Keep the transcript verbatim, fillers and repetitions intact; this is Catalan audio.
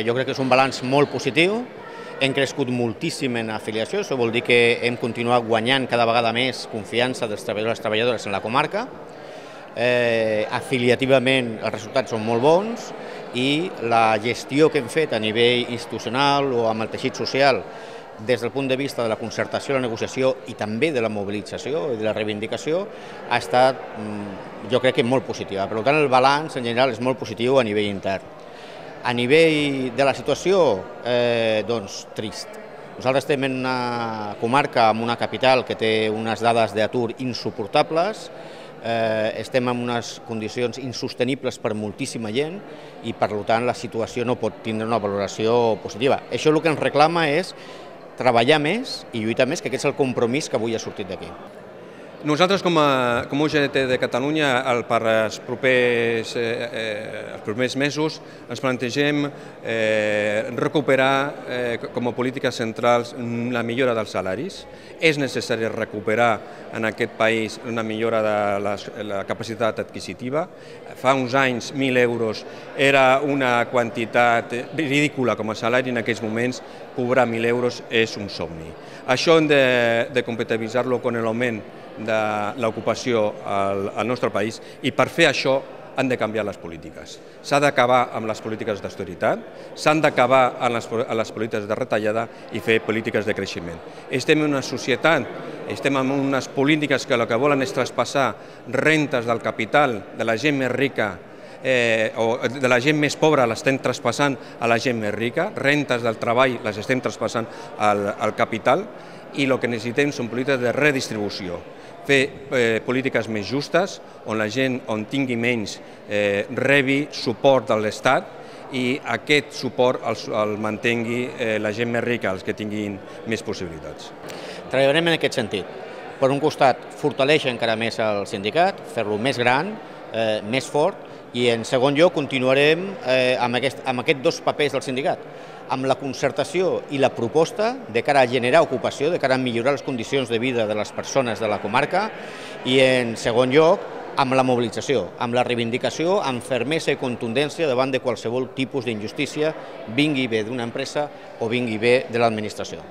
Jo crec que és un balanç molt positiu, hem crescut moltíssim en afiliació, això vol dir que hem continuat guanyant cada vegada més confiança dels treballadors i treballadores en la comarca. Eh, afiliativament els resultats són molt bons i la gestió que hem fet a nivell institucional o amb el teixit social des del punt de vista de la concertació, la negociació i també de la mobilització i de la reivindicació ha estat, jo crec que molt positiva. Per tant, el balanç en general és molt positiu a nivell intern. A nivell de la situació, eh, doncs, trist. Nosaltres estem en una comarca, en una capital que té unes dades d'atur insuportables, eh, estem en unes condicions insostenibles per moltíssima gent i, per tant, la situació no pot tindre una valoració positiva. Això el que ens reclama és treballar més i lluitar més, que aquest és el compromís que avui ha sortit d'aquí. Nosaltres, com a, com a U G T de Catalunya, el, per els propers, eh, els propers mesos ens plantegem eh, recuperar eh, com a polítiques centrals la millora dels salaris. És necessari recuperar en aquest país una millora de la, la capacitat adquisitiva. Fa uns anys, mil euros era una quantitat ridícula com a salari, en aquests moments cobrar mil euros és un somni. Això hem de, de compatibilitzar-lo amb l'augment de l'ocupació al, al nostre país i per fer això han de canviar les polítiques. S'ha d'acabar amb les polítiques d'austeritat, s'han d'acabar amb les, amb les polítiques de retallada i fer polítiques de creixement. Estem en una societat, estem en unes polítiques que el que volen és traspassar rentes del capital, de la gent més rica, Eh, o de la gent més pobra l'estem traspassant a la gent més rica, rentes del treball les estem traspassant al, al capital i el que necessitem són polítiques de redistribució, fer eh, polítiques més justes on la gent on tingui menys eh, rebi suport de l'Estat i aquest suport el, el mantengui eh, la gent més rica, els que tinguin més possibilitats. Treballarem en aquest sentit. Per un costat, fortalèixer encara més el sindicat, fer-lo més gran, eh, més fort, i en segon lloc continuarem eh, amb, aquest, amb aquests dos papers del sindicat, amb la concertació i la proposta de cara a generar ocupació, de cara a millorar les condicions de vida de les persones de la comarca i en segon lloc amb la mobilització, amb la reivindicació, amb fermesa i contundència davant de qualsevol tipus d'injustícia, vingui bé d'una empresa o vingui bé de l'administració.